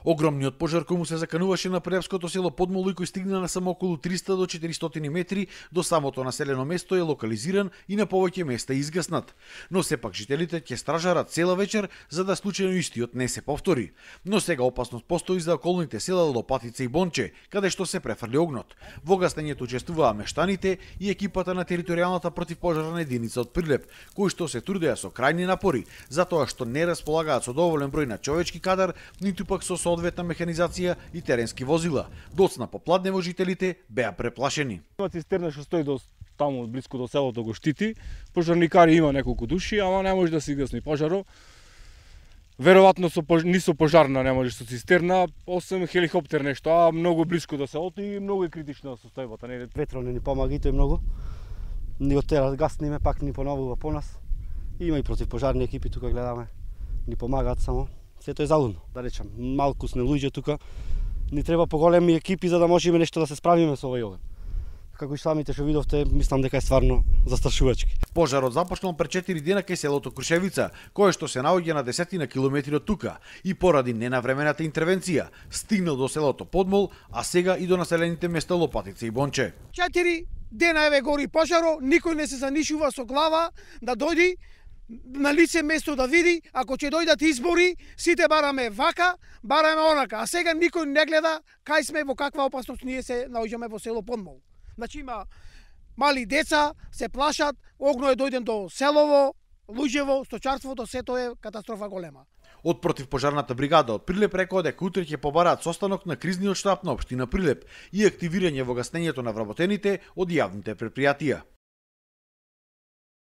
Огромниот пожар кој му се закануваше на прилепското село Подмол и кој стигна на само околу 300 до 400 метри до самото населено место е локализиран и на повеќе места изгаснат. Но сепак жителите ќе стражарат цела вечер за да случајно истиот не се повтори. Но сега опасност постои за околните села Лопатица и Бонче, каде што се префрли огнот. Во гаснењето учествуваа мештаните и екипата на територијалната противпожарна единица од Прилеп, кои што се трудеа со крајни напори, затоа што не располагаат со доволен број на човечки кадар, ниту пак со соодветна механизација и теренски возила. Доцна попладне жителите беа преплашени. Има цистерна што стои таму блиску до селото, го штити. Пожарникари има неколку души, ама не може да се гасни пожарот. Веројатно ни со пожарна не може со цистерна, освен хеликоптер нешто, а многу блиску до селото и многу е критична состојбата. Ветро не ни помага и тој многу. Ни оттера гасниме, пак ни поновува по нас. Има и противпожарни екипи тука гледаме. Ни помагаат само. Сето е залудно, да речам. Малку сме луѓе тука. Ни треба поголеми екипи за да можеме нешто да се справиме со овој оган. Како и самите што видовте, мислам дека е стварно застрашувачки. Пожарот започнал пред 4 дена кај селото Крушевица, кое што се наоѓа на десетина километри од тука и поради ненавремената интервенција стигнал до селото Подмол, а сега и до населените места Лопатица и Бонче. 4 дена еве гори пожаро, никој не се занишува со глава да дојди на лице место да види, ако ќе дојдат избори, сите бараме вака, бараме онака, а сега никој не гледа кај сме, во каква опасност ние се наоѓаме во село Подмол. Значи има мали деца, се плашат, огно е дојден до селово, луѓево, сточарството, сето е катастрофа голема. Од противпожарната бригада од Прилеп рекоа дека утре ќе побараат состанок на кризниот штаб на општина Прилеп и активирање во гаснењето на вработените од јавните предпријатија.